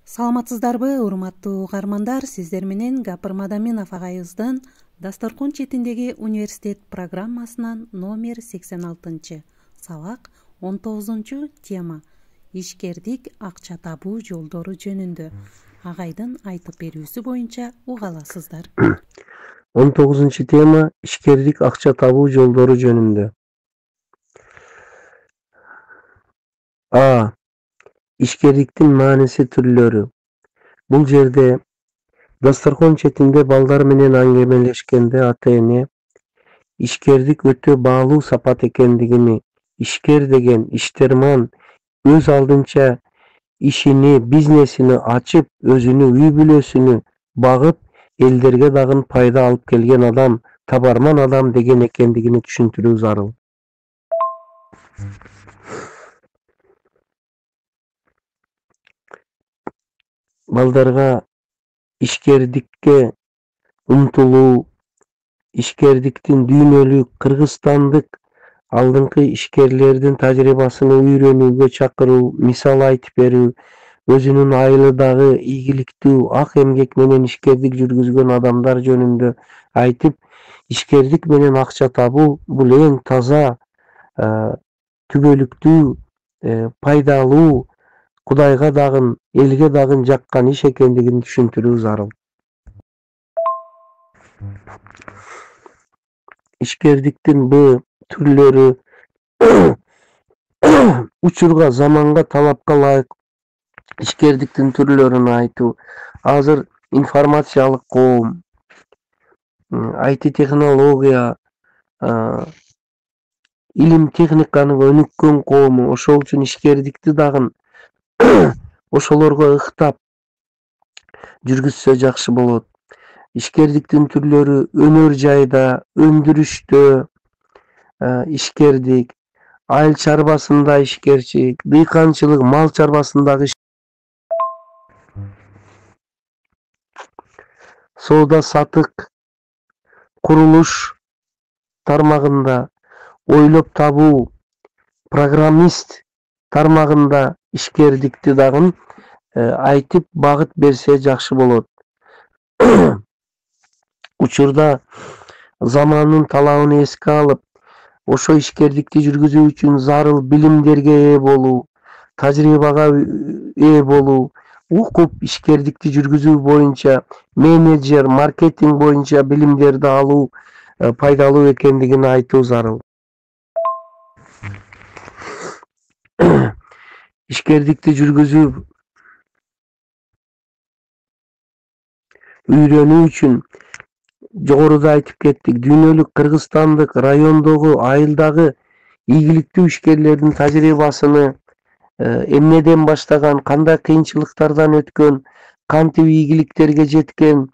Саламатсыздарбы, урматтуу угармандар? Сиздер менен Гапыр Мадаминов агайыбыздын Дасторкон четиндеги университет программасынан номер 86 сабак 19 тема ишкердик акча табуу жолдору жөнүндө агайдын айтып берүүсү боюнча уга аласыздар. 19 тема ишкердик акча табуу жолдору жөнүндө. Ишкердиктин мааниси түрлөрү. Бул жерде дасторкон четинде балдар менен аңгемелешкенде ата-эне ишкердик өтө баалуу сапат экендигини, ишкер деген иштерман өз алдынча ишини, бизнесини ачып, өзүнүн үй бүлөсүнү багып, элдерге дагы пайда алып келген адам, табарман адам деген экендигини түшүндүрүү зарыл. Балдарга ишкердикке умтулуу, ишкердиктин дүйнөлүк, кыргызстандык алдыңкы ишкерлердин тажрыйбасын үйрөнүүгө чакыруу, мисал айтып берүү, өзүнүн айылыдагы ийгиликтүү, ак эмгек менен ишкердик жүргүзгөн адамдар жөнүндө айтып, ишкердик менен акча табуу бул эң таза, түгөлүктүү, пайдалуу, Кудайга дагы, элге дагы жаккан иш экендигин түшүндүрүү зарыл. Ишкердиктин бул түрлөрү учурга, заманга, талапка ылайык ишкердиктин түрлөрүн айтуу. Азыр информациялык коом, IT технология, илим техниканы өнүккөн коому, ошол үчүн ишкердикти дагы ошолорго ыктап жүргүзсө жакшы болот. Ишкердиктин түрлөрү өнөр жайда, өндүрүштө ишкердик, айыл чарбасында ишкерчилик, дыйканчылык, мал чарбасындагы соода сатык, курулуш тармагында, ойлоп табуу, программист тармагында ишкердикти дагы айтып багыт берсе жакшы болот. Учурда замандын талабын эске алып, ошо ишкердикти жүргүзүү үчүн зарыл билимдерге ээ болуу, тажрыйбага ээ болуу, окуп ишкердикти жүргүзүү боюнча менеджер, маркетинг боюнча билимдерди алуу пайдалуу экендигин айтуу зарыл. Ишкердикти жүргүзүү үйрөнүү үчүн жогоруда айтып кеттик, дүйнөлүк, кыргызстандык, райондогу, айылдагы ийгиликтүү ишкерлердин тажрыйбасыны, эмнеден баштаган, кандай кыйынчылыктардан өткөн, кантип ийгиликтерге жеткен,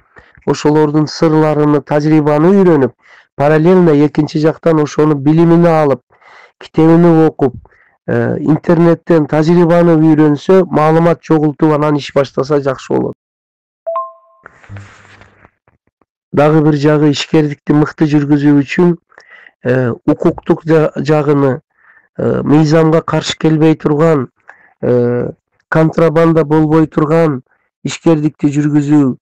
ошолордун сырларыны, тажрыйбаны үйрөнүп, параллельно экинчи жактан ошону билимини алып, китебини окуп, интернеттен тажрыйбаны үйрөнсө, маалымат чогултуп, анан иш баштаса жакшы болот. Дагы бир жагы ишкердикти мыкты жүргүзүү үчүн укуктук жагыны, мыйзамга каршы келбей турган, контрабанда болбой турган ишкердикти жүргүзүү,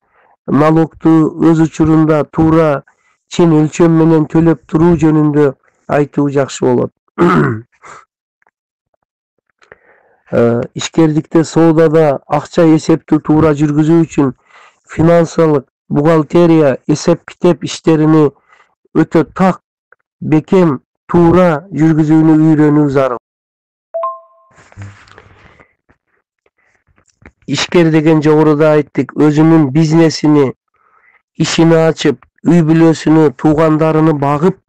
налогту өз учурунда туура чын өлчөм менен төлөп туруу жөнүндө айтуу жакшы болот. Ишкердикте соодада акча эсептүү туура жүргүзүү үчүн финансылык, бухгалтерия, эсеп-китеп иштерини өтө так, бекем, туура жүргүзүүнү үйрөнүү зарыл. Ишкер деген жогоруда айттык, өзүнүн бизнесини, ишини ачып, үй бүлөсүнү, туугандарыны багып,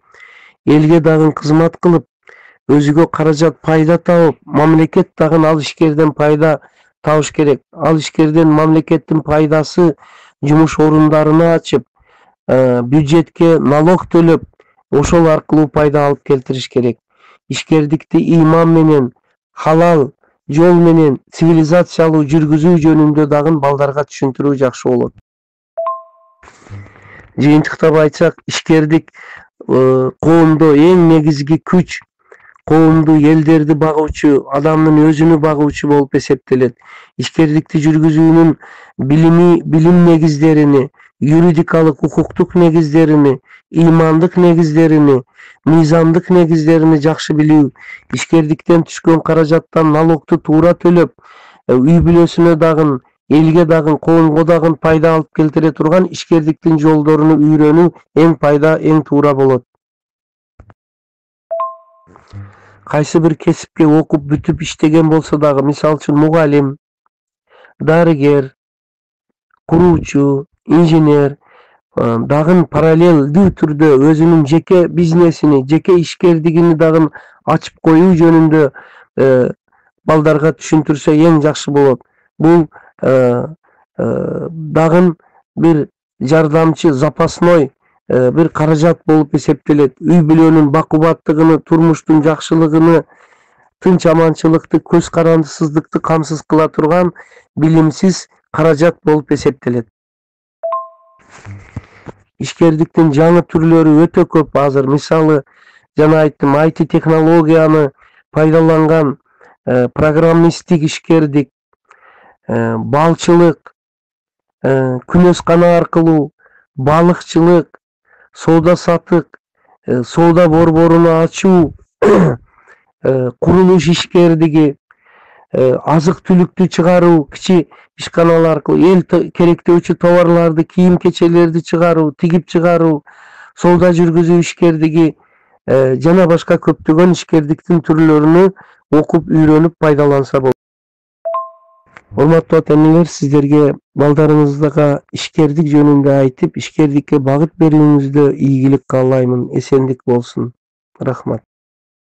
элге дагы кызмат кылып, өзүгө каражат пайда табып, мамлекет дагы ал ишкерден пайда табыш керек. Ал ишкерден мамлекеттин пайдасы жумуш орундарыны ачып, бюджетке налог төлөп, ошол аркылуу пайда алып келтириш керек. Ишкердикти ыйман менен, халал жол менен, цивилизациялуу жүргүзүү жөнүндө дагы балдарга түшүндүрүү жакшы болот. Жыйынтыктап айтсак, ишкердик коомдо эң негизги күч, коомду, элдерди багуучу, адамдын өзүнü багуучу болуп эсептелет. Ишкердикти жүргүзүүнүн билим негиздерини, юридикалык укуктук негиздерини, ыймандык негиздерини, мыйзамдык негиздерини жакшы билүү, ишкердиктен түшкөн каражаттан налогду туура төлөп, үй бүлөсүнө дагы, элге дагы, коомго дагы пайда алып келтире турган ишкердиктин жолдоруну үйрөнүү эң туура болот. Кайсы бир кесипке окуп бүтүп иштеген болсо дагы, мисалы үчүн мугалим, дарыгер, куруучу, инженер дагы параллелдүү түрдө өзүнүн жеке бизнесини, жеке ишкердигини дагы ачып коюу жөнүндө балдарга түшүндүрсө эң жакшы болот. Бул дагы бир жардамчы, запасной бир каражат болуп эсептелет. Үй бүлөнүн бакубаттыгыны, турмуштун жакшылыгыны, тынч аманчылыкты, көз карандысыздыкты камсыз кыла турган билимсиз каражат болуп эсептелет. Ишкердиктин жаңы түрлөрү өтө көп азыр. Мисалы, жана айттым, IT технологияны пайдаланган программисттик ишкердик, балчылык, күнөскана аркылуу, балыкчылык, соода сатык, соода борборуну ачуу, курулуш ишкердиги, азык түлүктү чыгаруу, кичи ишканалар аркылуу, эл керектөөчү товарларды, кийим кечелерди чыгаруу, тигип чыгаруу, соода жүргүзүү ишкердиги жана башка көптөгөн ишкердиктин түрлөрүнү окуп, үйрөнүп пайдаланса болот. Урматтуу ата-энелер, сиздерге балдарыңызга ишкердик жөнүндө айтып, ишкердикке багыт берүүңүздө ийгилик каалаймын. Эсендик болсун. Рахмат.